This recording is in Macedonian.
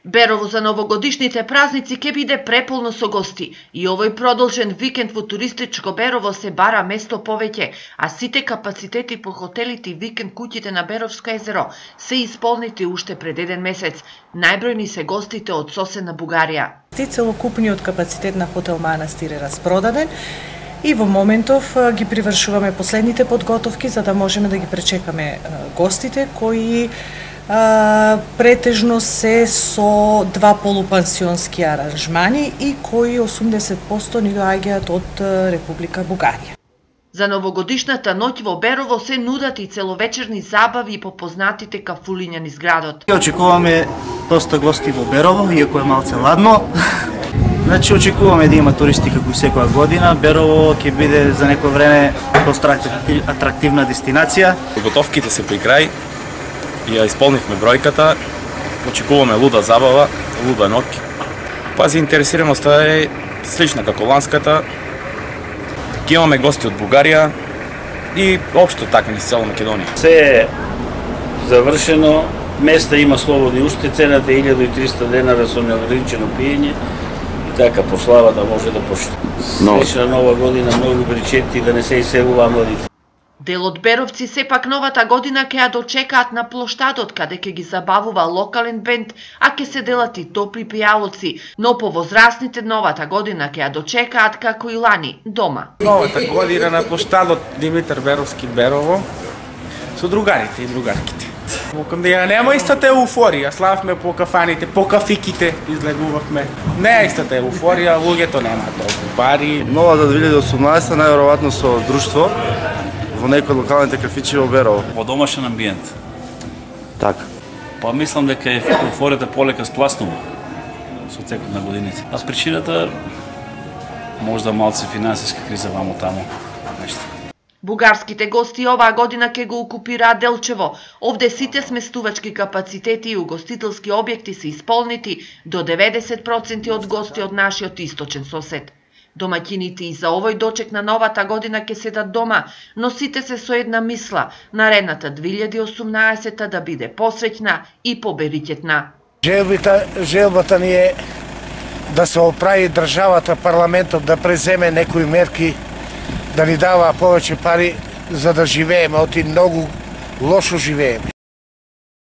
Берово за новогодишните празници ќе биде преполно со гости и овој продолжен викенд во туристичко Берово се бара место повеќе, а сите капацитети по хотелите и викенд куќите на Беровско езеро се исполнети уште пред еден месец. Најбројни се гостите од соседна Бугарија. Целокупниот капацитет на хотел Манастир е распродаден и во моментов ги привршуваме последните подготовки за да можеме да ги пречекаме гостите кои претежно се со два полупансионски аранжмани и кои 80% ни доаѓаат од Република Бугарија. За новогодишната ноќ во Берово се нудат и целовечерни забави по познатите кафулиња низ градот. Очекуваме доста гости во Берово, иако е малце ладно. Значи очекуваме да има туристи како секоја година. Берово ќе биде за некој време доста атрактивна дестинација. Подготовките се при крај. Ја исполнивме бројката, очекуваме луда забава, луда ноќ. Па заинтересираноста е слична како ланската. Ќе имаме гости од Бугарија и општо така низ цела Македонија. Се е завршено, места има слободни уште, цената е 1300 денара со неограничено пиење и така прославата може да почне. Слична нова година, многу бричети да не се иселува младите. Дел од беровци сепак новата година ќе ја дочекаат на плоштадот, каде ќе ги забавува локален бенд, а ќе се делат и топли пијалоци, но повозрастните новата година ќе ја дочекаат како и лани, дома. Новата година на плоштадот Димитар Беровски Берово, со другарите и другарките. Во кандија нема истата еуфорија, славме по кафаните, по кафиките, излегувавме. Не е истата еуфорија, луѓето немаат толку пари. Новата 2018 најверојатно со друштво во некои локалните кафичи во Берово. Во домашен амбиент. Така. Па мислам дека еуфоријата полека спласнува со текот на годините. А причината можда малце финансиска криза вамо тамо нешто. Бугарските гости оваа година ќе го окупираат Делчево. Овде сите сместувачки капацитети и угостителски објекти се исполнети до 90% од гости од нашиот источен сосед. Домаќините и за овој дочек на новата година ќе седат дома, но сите се со една мисла, наредната 2018 да биде посреќна и поберикетна. Желбата ни е да се оправи државата, парламентот да преземе некои мерки, да ни дава повеќе пари за да живееме, оти многу лошо живееме.